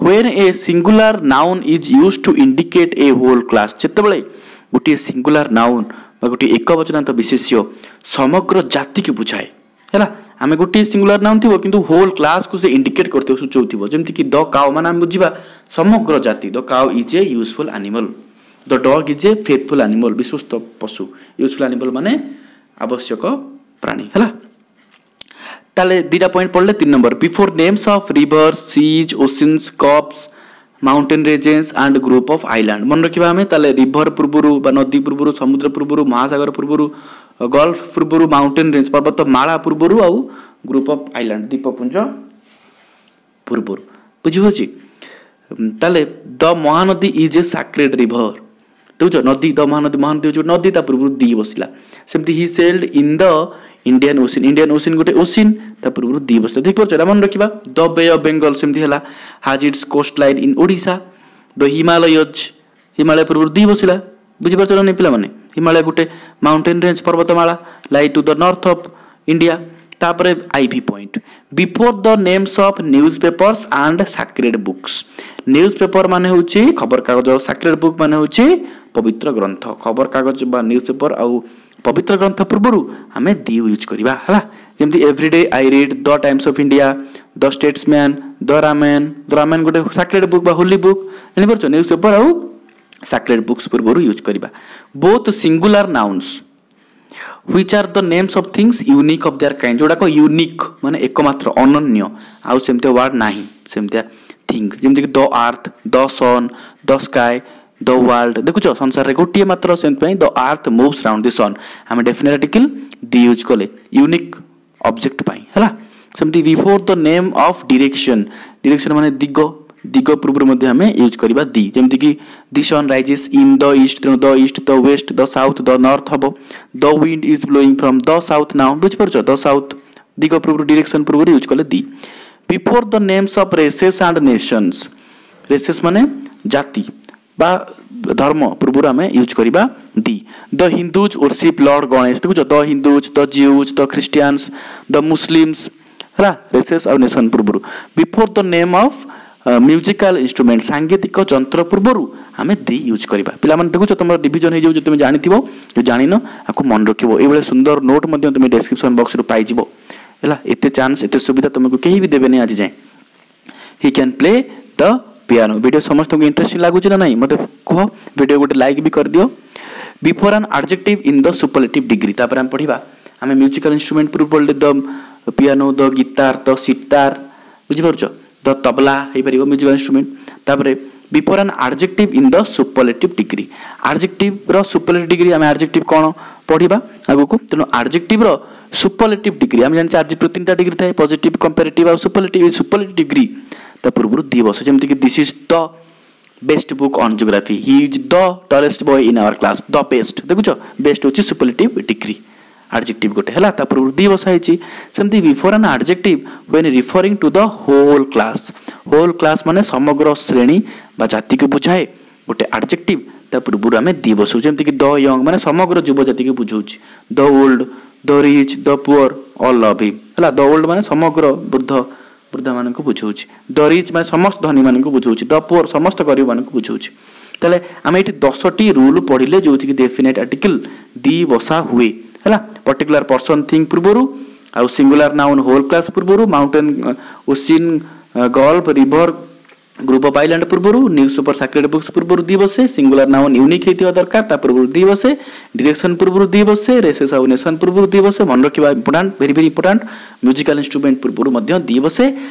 when a singular noun is used to indicate a whole class, ଯେତେବେଳେ ଗୋଟିଏ ସିଙ୍ଗୁଲାର ନାଉନ୍ ବା ଗୋଟିଏ ଏକବଚନାନ୍ତ ବିଶେଷ୍ୟ ସମଗ୍ର ଜାତିକୁ ବୁଝାଏ, ହେଲା। ଆମେ ଗୋଟିଏ ସିଙ୍ଗୁଲାର ନାଉନ୍ ଥିବ କିନ୍ତୁ ହୋଲ୍ କ୍ଲାସ୍କୁ ସେ ଇଣ୍ଡିକେଟ୍ କରିଥିବ, ସୂଚଉଥିବ। ଯେମିତିକି ଦ କାଉ ମାନେ ଆମେ ବୁଝିବା ସମଗ୍ର ଜାତି। The cow is a useful animal, the dog is a faithful animal, ବିଶ୍ୱସ୍ତ ପଶୁ। ୟୁଜଫୁଲ୍ ଆନିମଲ୍ ମାନେ ଆବଶ୍ୟକ ପ୍ରାଣୀ, ହେଲା। ତାହେଲେ ଦୁଇଟା ପଏଣ୍ଟ ପଢ଼ିଲେ। 3 number, before names of river, seas, oceans, cups, mountain ranges and group of island. ମନେ ରଖିବା ଆମେ। ତାହେଲେ ରିଭର ପୂର୍ବରୁ ବା ନଦୀ ପୂର୍ବରୁ, ସମୁଦ୍ର ପୂର୍ବରୁ, ମହାସାଗର ପୂର୍ବରୁ, ଗଲ୍ଫ ପୂର୍ବରୁ, ମାଉଣ୍ଟେନ୍ ରେଞ୍ଜ ପର୍ବତମାଳା ପୂର୍ବରୁ, ଆଉ ଗ୍ରୁପ୍ ଅଫ୍ ଆଇଲ୍ୟାଣ୍ଡ ଦ୍ୱୀପପୁଞ୍ଜ ପୂର୍ବରୁ। ବୁଝିହେଉଛି? ତାହେଲେ the Mahanadi is a sacred river, ଦେଖୁଛ ନଦୀ, ଦ ମହାନଦୀ, ମହାନଦୀ ହେଉଛି ନଦୀ, ତା ପୂର୍ବରୁ ଦି ବସିଲା। ସେମିତି he sailed in the Indian Ocean, Indian Ocean ଗୋଟେ ଓସିନ୍, ତା ପୂର୍ବରୁ ଦି ବସିଲା। ଦେଖିପାରୁଛ? ଏଇଟା ମନେ ରଖିବା। ଦ ବେ ଅଫ୍ ବେଙ୍ଗଲ ସେମିତି ହେଲା, has its coast line in Odisha. The Himalayas, Himalaya ପୂର୍ବରୁ ଦି ବସିଲା। ବୁଝିପାରୁଛ ନା ନାଇଁ ପିଲାମାନେ? ହିମାଳୟ ଗୋଟେ ମାଉଣ୍ଟେନ୍ ରେଞ୍ଜ, ପର୍ବତମାଳା, lie to the north of India. ତାପରେ IV point, before the names of newspapers and sacred books. Newspaper ମାନେ ହେଉଛି ଖବରକାଗଜ, ସାକ୍ରେଡ୍ ବୁକ୍ ମାନେ ହେଉଛି ପବିତ୍ର ଗ୍ରନ୍ଥ। ଖବରକାଗଜ ବା ନ୍ୟୁଜ୍ ପେପର ଆଉ ପବିତ୍ର ଗ୍ରନ୍ଥ ପୂର୍ବରୁ ଆମେ ଦି ୟୁଜ୍ କରିବା। ହେଲା, ଯେମିତି everyday I read the Times of India, the Statesman, the Ramayana. The Ramayana ଗୋଟେ ସାକ୍ରେଡ୍ ବୁକ୍ ବା ହୋଲି ବୁକ୍। ଜାଣିପାରୁଛ? ନ୍ୟୁଜ୍ ପେପର ଆଉ ସାକ୍ରେଡ୍ ବୁକ୍ସ ପୂର୍ବରୁ ୟୁଜ୍ କରିବା। Both singular nouns which are the names of things unique of their kind, ଯେଉଁଟାକ unique ମାନେ ଏକମାତ୍ର, ଅନନ୍ୟ, ଆଉ ସେମିତିଆ ୱାର୍ଡ଼ ନାହିଁ, ସେମିତିଆ ଥିଙ୍ଗ, ଯେମିତିକି the earth, the sun, the sky, the world. ଦେଖୁଛ, ସଂସାରରେ ଗୋଟିଏ ମାତ୍ର, ସେଥିପାଇଁ the earth moves round the sun, ଆମେ ଡେଫିନେଟ୍ ଆର୍ଟିକଲ୍ ଦି ୟୁଜ୍ କଲେ ୟୁନିକ୍ ଅବଜେକ୍ଟ ପାଇଁ। ହେଲା, ସେମିତି before the name of direction, direction ମାନେ ଦିଗ, ଦିଗ ପୂର୍ବରୁ ମଧ୍ୟ ଆମେ ୟୁଜ୍ କରିବା ଦି। ଯେମିତିକି the sun rises in the east, ତେଣୁ the east, the west, the south, the north ହେବ। The wind is blowing from the south now. ବୁଝିପାରୁଛ? ଦ ସାଉଥ୍, ଦିଗ ପୂର୍ବରୁ, ଡିରେକ୍ସନ୍ ପୂର୍ବରୁ ୟୁଜ୍ କଲେ the. Before the names of races and nations, races ମାନେ ଜାତି ବା ଧର୍ମ ପୂର୍ବରୁ ଆମେ ୟୁଜ୍ କରିବା the. The Hindus worship Lord Ganesh. ଦେଖୁଛ, the Hindus, the Jews, the Christians, the Muslims, ହେଲା, ରେସେସ୍ ଆଉ ନେସନ୍ ପୂର୍ବରୁ। Before the name of musical instrument, ସାଙ୍ଗୀତିକ ଯନ୍ତ୍ର ପୂର୍ବରୁ ଆମେ ଦି ୟୁଜ୍ କରିବା। ପିଲାମାନେ ଦେଖୁଛ, ତୁମର ଡିଭିଜନ୍ ହେଇଯାଉଛି, ତୁମେ ଜାଣିଥିବ, ଯଦି ଜାଣିନ ଆକୁ ମନେ ରଖିବ। ଏଇଭଳିଆ ସୁନ୍ଦର ନୋଟ୍ ମଧ୍ୟ ତୁମେ ଡେସ୍କ୍ରିପସନ୍ ବକ୍ସରୁ ପାଇଯିବ। ହେଲା, ଏତେ ଚାନ୍ସ, ଏତେ ସୁବିଧା ତୁମକୁ କେହି ବି ଦେବେନି ଆଜି ଯାଏଁ। He can play the piano. Video ସମସ୍ତଙ୍କୁ ଇଣ୍ଟରେଷ୍ଟିଂ ଲାଗୁଛି ନା ନାହିଁ ମୋତେ କୁହ। ଭିଡ଼ିଓ ଗୋଟେ ଲାଇକ୍ ବି କରିଦିଅ। Before an adjective in the superlative degree, ତାପରେ ଆମେ ପଢ଼ିବା। ଆମେ ମ୍ୟୁଜିକାଲ ଇନଷ୍ଟ୍ରୁମେଣ୍ଟ ପୂର୍ବରୁ ପଢ଼ିଲେ the piano, the guitar, the sitar, ବୁଝିପାରୁଛ, ଦ ତବଲା ହେଇପାରିବ ମ୍ୟୁଜିକାଲ ଇନଷ୍ଟ୍ରୁମେଣ୍ଟ। ତାପରେ before an adjective in the superlative degree, ଆଡଜେକ୍ଟିଭର superlative degree, ଆମେ ଆଡଜେକ୍ଟିଭ କ'ଣ ପଢ଼ିବା ଆଗକୁ। ତେଣୁ ଆଡଜେକ୍ଟିଭର ସୁପରଲେଟିଭ୍ ଡିଗ୍ରୀ ଆମେ ଜାଣିଛେ, ଆଡଜେକ୍ଟିଭ ତିନିଟା ଡିଗ୍ରୀ ଥାଏ, ପଜିଟିଭ୍, କମ୍ପାରେଟିଭ୍ ଆଉ ସୁପରଲେଟିଭ୍। ସୁପରଲେଟିଭ୍ ଡିଗ୍ରୀ ତା ପୂର୍ବରୁ ଦି ବସେ। ଯେମିତିକି this is the best book on geography, he is the tallest boy in our class, the best. ଦେଖୁଛ, ବେଷ୍ଟ ହେଉଛି ସୁପରଲେଟିଭ୍ ଡିଗ୍ରୀ ଆଡଜେକ୍ଟିଭ ଗୋଟେ। ହେଲା, ତା ପୂର୍ବରୁ ଦି ବସା ହେଇଛି। ସେମିତି before an adjective when referring to the whole class, whole class ମାନେ ସମଗ୍ର ଶ୍ରେଣୀ ବା ଜାତିକୁ ବୁଝାଏ ଗୋଟେ ଆଡଜେକ୍ଟିଭ, ତା ପୂର୍ବରୁ ଆମେ ଦି ବସଉ। ଯେମିତିକି ଦ ୟଙ୍ଗ ମାନେ ସମଗ୍ର ଯୁବ ଜାତିକୁ ବୁଝାଉଛି, the old, the rich, the poor, all love him. ହେଲା, ଦ ଓଲ୍ଡ ମାନେ ସମଗ୍ର ବୃଦ୍ଧ ବୃଦ୍ଧାମାନଙ୍କୁ ବୁଝାଉଛି, ଦ ରିଚ୍ ମାନେ ସମସ୍ତ ଧନୀମାନଙ୍କୁ ବୁଝାଉଛି, ଦ ପୁଅର ସମସ୍ତ ଗରିବମାନଙ୍କୁ ବୁଝାଉଛି। ତାହେଲେ ଆମେ ଏଇଠି 10ଟି ରୁଲ୍ ପଢ଼ିଲେ ଯେଉଁଥିକି ଡେଫିନେଟ୍ ଆର୍ଟିକଲ୍ ଦି ବସା ହୁଏ। ହେଲା, ପର୍ଟିକୁଲାର ପର୍ସନ୍ ଥିଙ୍ଗ ପୂର୍ବରୁ, ଆଉ ସିଙ୍ଗୁଲାର ନାଉନ୍ ହୋଲ୍ କ୍ଲାସ୍ ପୂର୍ବରୁ, mountain, ocean, gulf, river, group of island ପୂର୍ବରୁ, ନ୍ୟୁଜ୍ ପେପର, ସାକ୍ରେଡ୍ ବୁକ୍ସ ପୂର୍ବରୁ ଦି ବସେ, ସିଙ୍ଗୁଲାର ନାଉନ୍ ୟୁନିକ୍ ହେଇଥିବା ଦରକାର, ତା ପୂର୍ବରୁ ଦି ବସେ, ଡିରେକ୍ସନ୍ ପୂର୍ବରୁ ଦି ବସେ, ରେସେସ୍ ଆଉ ନେସନ୍ ପୂର୍ବରୁ ଦି ବସେ। ମନେ ରଖିବା important, very very important. Musical instrument ପୂର୍ବରୁ ମଧ୍ୟ ଦି ବସେ,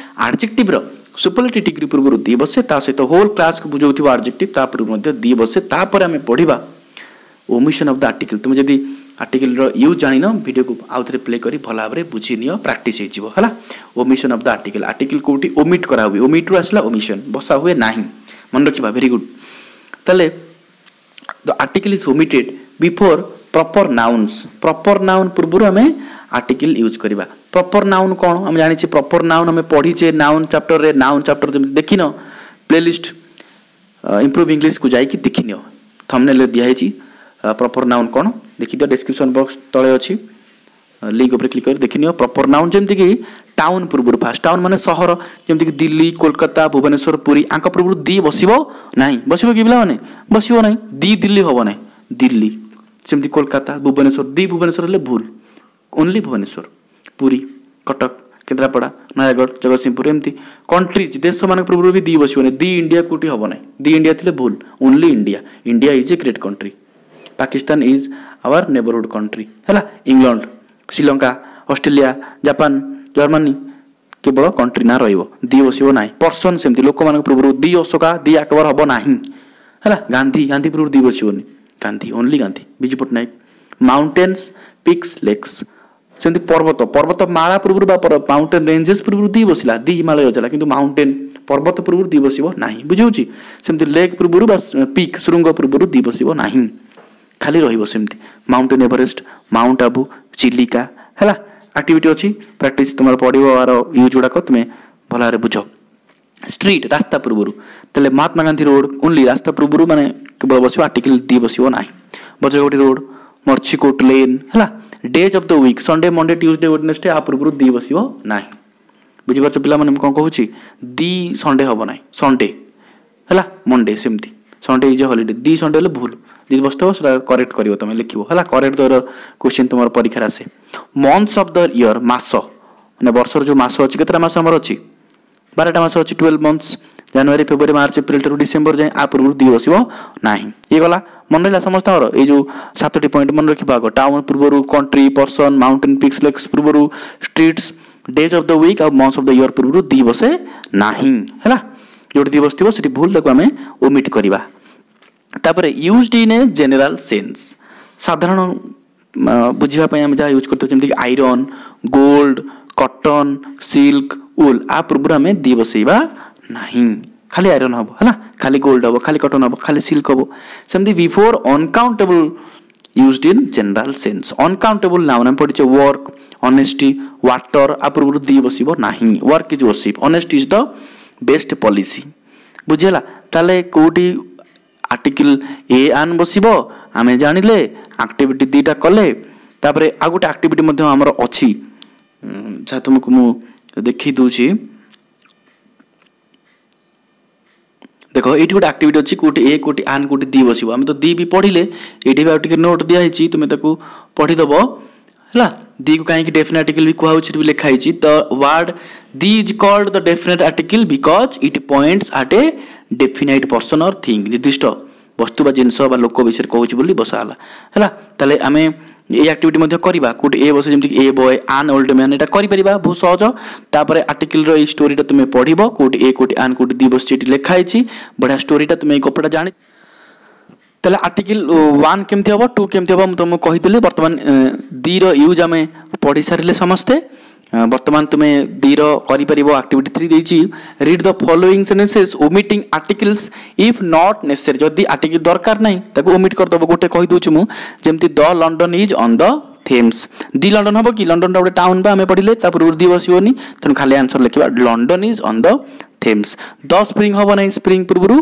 ଆଡଜେକ୍ଟିଭର ସୁପରଲେଟିଭ୍ ଡିଗ୍ରୀ ପୂର୍ବରୁ ଦି ବସେ, ତା ସହିତ ହୋଲ୍ କ୍ଲାସ୍କୁ ବୁଝାଉଥିବା ଆଡଜେକ୍ଟିଭ ତା ପୂର୍ବରୁ ମଧ୍ୟ ଦି ବସେ। ତାପରେ ଆମେ ପଢ଼ିବା ଓମିସନ୍ ଅଫ୍ the article. ତୁମେ ଯଦି ଆର୍ଟିକଲ୍ର ୟୁଜ୍ ଜାଣିନ, ଭିଡ଼ିଓକୁ ଆଉ ଥରେ ପ୍ଲେ କରି ଭଲ ଭାବରେ ବୁଝି ନିଅ, ପ୍ରାକ୍ଟିସ୍ ହେଇଯିବ। ହେଲା, omission of the article, article କେଉଁଠି ଓମିଟ୍ କରାହୁଏ, ଓମିଟ୍ରୁ ଆସିଲା ଓମିସନ୍, ବସା ହୁଏ ନାହିଁ, ମନେ ରଖିବା, ଭେରି ଗୁଡ୍। ତାହେଲେ the article is omitted before proper nouns, proper noun ପୂର୍ବରୁ ଆମେ ଆର୍ଟିକଲ୍ ୟୁଜ୍ କରିବା। ପ୍ରପର ନାଉନ୍ କ'ଣ ଆମେ ଜାଣିଛେ, ପ୍ରପର ନାଉନ୍ ଆମେ ପଢ଼ିଛେ ନାଉନ୍ ଚାପ୍ଟରରେ। ନାଉନ୍ ଚାପ୍ଟର ଯେମିତି ଦେଖିନ, ପ୍ଲେଲିଷ୍ଟ ଇମ୍ପ୍ରୁଭ୍ ଇଂଲିଶକୁ ଯାଇକି ଦେଖିନିଅ, ଥମ୍ବନେଲ୍ରେ ଦିଆହେଇଛି ପ୍ରପର ନାଉନ୍ କ'ଣ, ଦେଖିଦିଅ, ଡେସ୍କ୍ରିପସନ୍ ବକ୍ସ ତଳେ ଅଛି, ଲିଙ୍କ ଉପରେ କ୍ଲିକ୍ କରି ଦେଖିନିଅ। ପ୍ରପର ନାଉନ୍ ଯେମିତିକି ଟାଉନ୍ ପୂର୍ବରୁ, ଫାଷ୍ଟ ଟାଉନ୍ ମାନେ ସହର, ଯେମିତିକି ଦିଲ୍ଲୀ, କୋଲକାତା, ଭୁବନେଶ୍ୱର, ପୁରୀ, ଆଙ୍କ ପୂର୍ବରୁ ଦି ବସିବ ନାହିଁ। ବସିବ କି ପିଲାମାନେ? ବସିବ ନାହିଁ। ଦି ଦିଲ୍ଲୀ ହେବ ନାହିଁ, ଦିଲ୍ଲୀ। ସେମିତି କୋଲକାତା, ଭୁବନେଶ୍ୱର, ଦି ଭୁବନେଶ୍ୱର ହେଲେ ଭୁଲ, ଓନ୍ଲି ଭୁବନେଶ୍ୱର, ପୁରୀ, କଟକ, କେନ୍ଦ୍ରାପଡ଼ା, ନୟାଗଡ଼, ଜଗତସିଂହପୁର, ଏମିତି। କଣ୍ଟ୍ରିଜ୍, ଦେଶମାନଙ୍କ ପୂର୍ବରୁ ବି ଦି ବସିବନି। ଦି ଇଣ୍ଡିଆ କେଉଁଠି ହେବ ନାହିଁ, ଦି ଇଣ୍ଡିଆ ଥିଲେ ଭୁଲ, only India. India is a great country, Pakistan is our neighbourhood country. ହେଲା, England, Sri Lanka, Australia, Japan, Germany, କେବଳ କଣ୍ଟ୍ରି ନାଁ ରହିବ, ଦି ବସିବ ନାହିଁ। ପର୍ସନ୍ ସେମିତି ଲୋକମାନଙ୍କ ପୂର୍ବରୁ ଦି ଅଶୋକା, ଦି ଆକବର ହେବ ନାହିଁ। ହେଲା, ଗାନ୍ଧୀ, ଗାନ୍ଧୀ ପୂର୍ବରୁ ଦି ବସିବନି, Gandhi, only Gandhi, Biju Patnaik. Mountains, peaks, lakes, ସେମିତି ପର୍ବତ, ପର୍ବତମାଳା ପୂର୍ବରୁ ବା ମାଉଣ୍ଟେନ୍ ରେଞ୍ଜେସ୍ ପୂର୍ବରୁ ଦି ବସିଲା, ଦି ହିମାଳୟ ହେଲା, କିନ୍ତୁ ମାଉଣ୍ଟେନ୍ ପର୍ବତ ପୂର୍ବରୁ ଦି ବସିବ ନାହିଁ, ବୁଝିହେଉଛି? ସେମିତି ଲେକ୍ ପୂର୍ବରୁ ବା ପିକ୍ ଶୃଙ୍ଗ ପୂର୍ବରୁ ଦି ବସିବ ନାହିଁ, ଖାଲି ରହିବ ସେମିତି। ମାଉଣ୍ଟେନ୍ ଏଭରେଷ୍ଟ, ମାଉଣ୍ଟ ଆବୁ, ଚିଲିକା, ହେଲା। ଆକ୍ଟିଭିଟି ଅଛି, ପ୍ରାକ୍ଟିସ୍ ତୁମର ପଡ଼ିବ, ଆର ୟୁଜ୍ ଗୁଡ଼ାକ ତୁମେ ଭଲ ଭାବରେ ବୁଝ। ଷ୍ଟ୍ରିଟ୍ ରାସ୍ତା ପୂର୍ବରୁ, ତାହେଲେ ମହାତ୍ମା ଗାନ୍ଧୀ ରୋଡ଼ ଓନ୍ଲି ରାସ୍ତା ପୂର୍ବରୁ ମାନେ କେବଳ ବସିବ, ଆର୍ଟିକଲ ଦି ବସିବ ନାହିଁ। ବଜ୍ରଗୋଟି ରୋଡ଼, ମର୍ଚିକୋଟ ଲେନ୍, ହେଲା। Days of the week, Sunday, Monday, Tuesday, Wednesday, ଆ ପୂର୍ବରୁ ଦି ବସିବ ନାହିଁ। ବୁଝିପାରୁଛ ପିଲାମାନେ ମୁଁ କ'ଣ କହୁଛି? ଦି ସଣ୍ଡେ ହେବ ନାହିଁ, ସଣ୍ଡେ ହେଲା, ମଣ୍ଡେ ସେମିତି, Sunday is a holiday. The Sunday ହେଲେ ଭୁଲ, ଯଦି ବସିଥିବ ସେଟା କରେକ୍ଟ କରିବ ତୁମେ, ଲେଖିବ, ହେଲା। କରେକ୍ଟ ଦର କ୍ୱେଶ୍ଚିନ୍ ତୁମର ପରୀକ୍ଷାରେ ଆସେ। ମନ୍ଥସ୍ ଅଫ୍ the year, ମାସ ମାନେ ବର୍ଷର ଯେଉଁ ମାସ ଅଛି, କେତେଟା ମାସ ଆମର ଅଛି? 12ଟା ମାସ ଅଛି, 12 ମନ୍ଥସ୍, ଜାନୁଆରୀ, ଫେବୃଆରୀ, ମାର୍ଚ୍ଚ, ଏପ୍ରିଲ ଠାରୁ ଡିସେମ୍ବର ଯାଏଁ, ଆ ପୂର୍ବରୁ ଦି ବସିବ ନାହିଁ। ଇଏ ଗଲା, ମନେ ରହିଲା ସମସ୍ତଙ୍କର? ଏଇ ଯେଉଁ 7ଟି ପଏଣ୍ଟ ମନେ ରଖିବ ଆଗ। ଟାଉନ୍ ପୂର୍ବରୁ, country, person, mountain peaks, lakes ପୂର୍ବରୁ, streets, days of the week ଆଉ ମନ୍ଥସ୍ ଅଫ୍ the year ପୂର୍ବରୁ ଦି ବସେ ନାହିଁ, ହେଲା। ଯେଉଁଠି ଦି ବସିଥିବ ସେଠି ଭୁଲ, ତାକୁ ଆମେ ଓମିଟ୍ କରିବା। ତାପରେ used in a general sense, ସାଧାରଣ ବୁଝିବା ପାଇଁ ଆମେ ଯାହା ୟୁଜ୍ କରିଥାଉ, ଯେମିତିକି iron, gold, cotton, silk, wool, ଆ ପୂର୍ବରୁ ଆମେ ଦି ବସେଇବା ନାହିଁ। ଖାଲି ଆଇରନ୍ ହେବ, ହେଲା, ଖାଲି ଗୋଲ୍ଡ ହେବ, ଖାଲି କଟନ୍ ହେବ, ଖାଲି ସିଲ୍କ ହେବ। ସେମିତି before uncountable used in general sense, uncountable noun ଆମେ ପଢ଼ିଛେ, ୱାର୍କ, ଅନେଷ୍ଟି, ୱାଟର, ଆ ପୂର୍ବରୁ ଦି ବସିବ ନାହିଁ। Work is worship, honesty is the best policy. ବୁଝିହେଲା? ତାହେଲେ କେଉଁଠି ଆର୍ଟିକିଲ୍ ଏ ଆନ୍ ବସିବ ଆମେ ଜାଣିଲେ, ଆକ୍ଟିଭିଟି ଦୁଇଟା କଲେ। ତାପରେ ଆଉ ଗୋଟେ ଆକ୍ଟିଭିଟି ମଧ୍ୟ ଆମର ଅଛି, ଯାହା ତୁମକୁ ମୁଁ ଦେଖେଇ ଦେଉଛି। ଦେଖ, ଏଇଠି ଗୋଟେ ଆକ୍ଟିଭିଟି ଅଛି, କେଉଁଠି ଏ, କେଉଁଠି ଆନ୍, କେଉଁଠି ଦି ବସିବ। ଆମେ ତ ଦି ବି ପଢ଼ିଲେ, ଏଇଠି ବି ଆଉ ଟିକେ ନୋଟ୍ ଦିଆହେଇଛି, ତୁମେ ତାକୁ ପଢ଼ିଦେବ, ହେଲା। ଦିକୁ କାହିଁକି ଡେଫିନେଟ୍ ଆର୍ଟିକଲ୍ ବି କୁହାହେଉଛି, ସେଠି ବି ଲେଖା ହେଇଛି। The word the is called the definite article because it points at a definite person or thing, ନିର୍ଦ୍ଦିଷ୍ଟ ବସ୍ତୁ ବା ଜିନିଷ ବା ଲୋକ ବିଷୟରେ କହୁଛି ବୋଲି ବସା ହେଲା, ହେଲା। ତାହେଲେ ଆମେ ଏଇ ଆକ୍ଟିଭିଟି ମଧ୍ୟ କରିବା, କେଉଁଠି ଏ ବସେ, ଯେମିତିକି ଏ ବୟ, ଆନ୍ ଓଲ୍ଡ ମ୍ୟାନ୍, ଏଇଟା କରିପାରିବା, ବହୁତ ସହଜ। ତାପରେ ଆର୍ଟିକଲର ଏଇ ଷ୍ଟୋରିଟା ତୁମେ ପଢ଼ିବ, କେଉଁଠି ଏ, କେଉଁଠି ଆନ୍, କେଉଁଠି ଦି ବସିଛି, ଏଠି ଲେଖା ହେଇଛି। ବଢ଼ିଆ ଷ୍ଟୋରିଟା, ତୁମେ ଏଇ ଗପଟା ଜାଣି। ତାହେଲେ ଆର୍ଟିକଲ 1 କେମିତି ହେବ, 2 କେମିତି ହେବ ମୁଁ ତୁମକୁ କହିଥିଲି। ବର୍ତ୍ତମାନ ଦିର ୟୁଜ୍ ଆମେ ପଢ଼ି ସାରିଲେ ସମସ୍ତେ। ବର୍ତ୍ତମାନ ତୁମେ ଦିର କରିପାରିବ। ଆକ୍ଟିଭିଟି 3 ଦେଇଛି, read the following sentences omitting articles if not necessary. ଯଦି ଆର୍ଟିକଲ ଦରକାର ନାହିଁ ତାକୁ ଓମିଟ୍ କରିଦେବ। ଗୋଟେ କହିଦେଉଛି ମୁଁ, ଯେମିତି the London is on the Thames. The London ହେବ କି? ଲଣ୍ଡନଟା ଗୋଟେ ଟାଉନ୍ ବା ଆମେ ପଢ଼ିଲେ, ତା ପୂର୍ବରୁ ଦି ବସିବନି, ତେଣୁ ଖାଲି ଆନ୍ସର ଲେଖିବା London is on the Thames. The spring ହେବ ନାହିଁ, ସ୍ପ୍ରିଙ୍ଗ ପୂର୍ବରୁ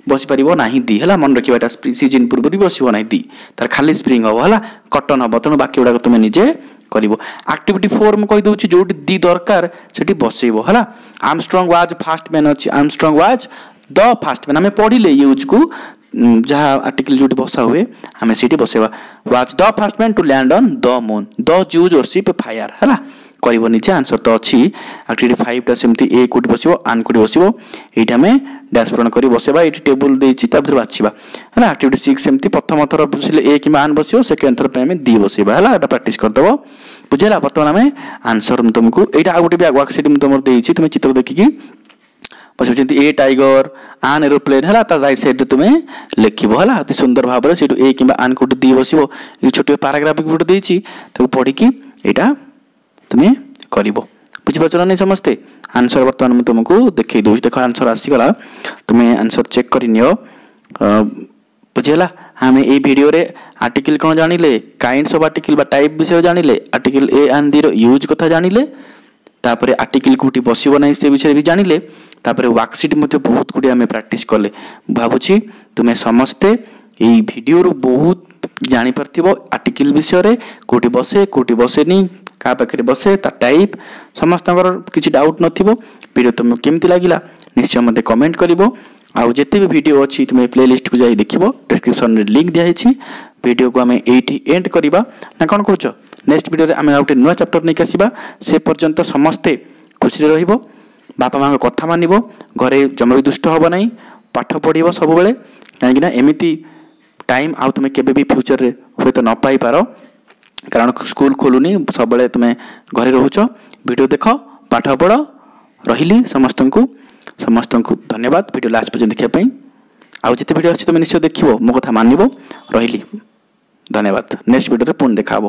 ବସିପାରିବ ନାହିଁ ଦି, ହେଲା। ମନେ ରଖିବା ଏଇଟା, ସିଜିନ୍ ପୂର୍ବରୁ ବି ବସିବ ନାହିଁ ଦି, ତାର ଖାଲି ସ୍ପ୍ରିଙ୍ଗ ହେବ, ହେଲା, କଟନ୍ ହେବ। ତେଣୁ ବାକି ଗୁଡ଼ାକ ତୁମେ ନିଜେ କରିବ। ଆକ୍ଟିଭିଟି 4 ମୁଁ କହିଦେଉଛି, ଯେଉଁଠି ଦି ଦରକାର ସେଠି ବସେଇବ, ହେଲା। ଆର୍ମଷ୍ଟ୍ରଙ୍ଗ ୱାଜ୍ ଫାଷ୍ଟ ମ୍ୟାନ୍ ଅଛି, Armstrong was the first man. ଆମେ ପଢ଼ିଲେ ୟୁଜ୍କୁ, ଯାହା ଆର୍ଟିକଲ ଯେଉଁଠି ବସା ହୁଏ ଆମେ ସେଇଠି ବସେଇବା। Was the first man to land on the moon, the Jews worship fire, ହେଲା। କରିବ ନିଜେ, ଆନ୍ସର ତ ଅଛି। ଆକ୍ଟିଭିଟି 5ଟା ସେମିତି ଏ କେଉଁଠି ବସିବ, ଆନ୍ କେଉଁଠି ବସିବ, ଏଇଟା ଆମେ ଡ୍ୟାସ୍ ପୂରଣ କରି ବସେଇବା। ଏଇଠି ଟେବୁଲ ଦେଇଛି, ତା ଭିତରେ ବାଛିବା, ହେଲା। ଆକ୍ଟିଭିଟି 6 ସେମିତି ପ୍ରଥମ ଥର ବସିଲେ ଏ କିମ୍ବା ଆନ୍ ବସିବ, ସେକେଣ୍ଡ ଥର ପାଇଁ ଆମେ ଦି ବସେଇବା, ହେଲା। ଏଇଟା ପ୍ରାକ୍ଟିସ୍ କରିଦେବ, ବୁଝିହେଲା? ବର୍ତ୍ତମାନ ଆମେ ଆନ୍ସର ମୁଁ ତୁମକୁ ଏଇଟା ଆଉ ଗୋଟେ ବି ୱାର୍କସିଟ୍ ମୁଁ ତୁମର ଦେଇଛି, ତୁମେ ଚିତ୍ର ଦେଖିକି ବସିବ। ଯେମିତି ଏ ଟାଇଗର, ଆନ୍ ଏରୋପ୍ଲେନ୍, ହେଲା, ତା ରାଇଟ୍ ସାଇଡ଼୍ରେ ତୁମେ ଲେଖିବ, ହେଲା, ଅତି ସୁନ୍ଦର ଭାବରେ। ସେଇଠୁ ଏ କିମ୍ବା ଆନ୍ କେଉଁଠି ଦି ବସିବ, ଏଇ ଛୋଟିଆ ପାରାଗ୍ରାଫ ଗୋଟେ ଦେଇଛି, ତାକୁ ପଢ଼ିକି ଏଇଟା ତୁମେ କରିବ। ବୁଝିପାରୁଛ ନା ନାଇଁ ସମସ୍ତେ? ଆନ୍ସର ବର୍ତ୍ତମାନ ମୁଁ ତୁମକୁ ଦେଖେଇ ଦେଉଛି। ଦେଖ, ଆନ୍ସର ଆସିଗଲା, ତୁମେ ଆନ୍ସର ଚେକ୍ କରିନିଅ। ବୁଝିହେଲା? ଆମେ ଏଇ ଭିଡ଼ିଓରେ ଆର୍ଟିକଲ କ'ଣ ଜାଣିଲେ, କାଇଣ୍ଡସ୍ ଅଫ୍ ଆର୍ଟିକଲ ବା ଟାଇପ୍ ବିଷୟରେ ଜାଣିଲେ, ଆର୍ଟିକଲ ଏ ଆଣ୍ଡ ଦିର ୟୁଜ୍ କଥା ଜାଣିଲେ, ତାପରେ ଆର୍ଟିକଲ କେଉଁଠି ବସିବ ନାହିଁ ସେ ବିଷୟରେ ବି ଜାଣିଲେ, ତାପରେ ୱାର୍କସିଟ୍ ମଧ୍ୟ ବହୁତ ଗୁଡ଼ିଏ ଆମେ ପ୍ରାକ୍ଟିସ୍ କଲେ। ଭାବୁଛି ତୁମେ ସମସ୍ତେ ଏଇ ଭିଡ଼ିଓରୁ ବହୁତ ଜାଣିପାରିଥିବ ଆର୍ଟିକଲ ବିଷୟରେ, କେଉଁଠି ବସେ, କେଉଁଠି ବସେନି, କାହା ପାଖରେ ବସେ, ତା ଟାଇପ୍, ସମସ୍ତଙ୍କର କିଛି ଡାଉଟ୍ ନଥିବ। ଭିଡ଼ିଓ ତୁମକୁ କେମିତି ଲାଗିଲା ନିଶ୍ଚୟ ମୋତେ କମେଣ୍ଟ କରିବ। ଆଉ ଯେତେ ବି ଭିଡ଼ିଓ ଅଛି ତୁମେ ପ୍ଲେଲିଷ୍ଟକୁ ଯାଇ ଦେଖିବ, ଡିସ୍କ୍ରିପ୍ସନରେ ଲିଙ୍କ୍ ଦିଆହେଇଛି। ଭିଡ଼ିଓକୁ ଆମେ ଏଇଠି ଏଣ୍ଡ କରିବା ନା କ'ଣ କହୁଛ? ନେକ୍ସଟ ଭିଡ଼ିଓରେ ଆମେ ଆଉ ଗୋଟେ ନୂଆ ଚାପ୍ଟର ନେଇକି ଆସିବା। ସେ ପର୍ଯ୍ୟନ୍ତ ସମସ୍ତେ ଖୁସିରେ ରହିବ, ବାପା ମାଆଙ୍କ କଥା ମାନିବ, ଘରେ ଜମା ବି ଦୁଷ୍ଟ ହେବ ନାହିଁ, ପାଠ ପଢ଼ିବ ସବୁବେଳେ, କାହିଁକିନା ଏମିତି ଟାଇମ୍ ଆଉ ତୁମେ କେବେ ବି ଫ୍ୟୁଚରରେ ହୁଏତ ନ ପାଇପାର, କାରଣ ସ୍କୁଲ ଖୋଲୁନି, ସବୁବେଳେ ତୁମେ ଘରେ ରହୁଛ। ଭିଡ଼ିଓ ଦେଖ, ପାଠ ପଢ଼। ରହିଲି, ସମସ୍ତଙ୍କୁ ସମସ୍ତଙ୍କୁ ଧନ୍ୟବାଦ ଭିଡ଼ିଓ ଲାଷ୍ଟ ପର୍ଯ୍ୟନ୍ତ ଦେଖିବା ପାଇଁ। ଆଉ ଯେତେ ଭିଡ଼ିଓ ଅଛି ତୁମେ ନିଶ୍ଚୟ ଦେଖିବ, ମୋ କଥା ମାନିବ। ରହିଲି, ଧନ୍ୟବାଦ। ନେକ୍ସଟ ଭିଡ଼ିଓରେ ପୁଣି ଦେଖା ହେବ।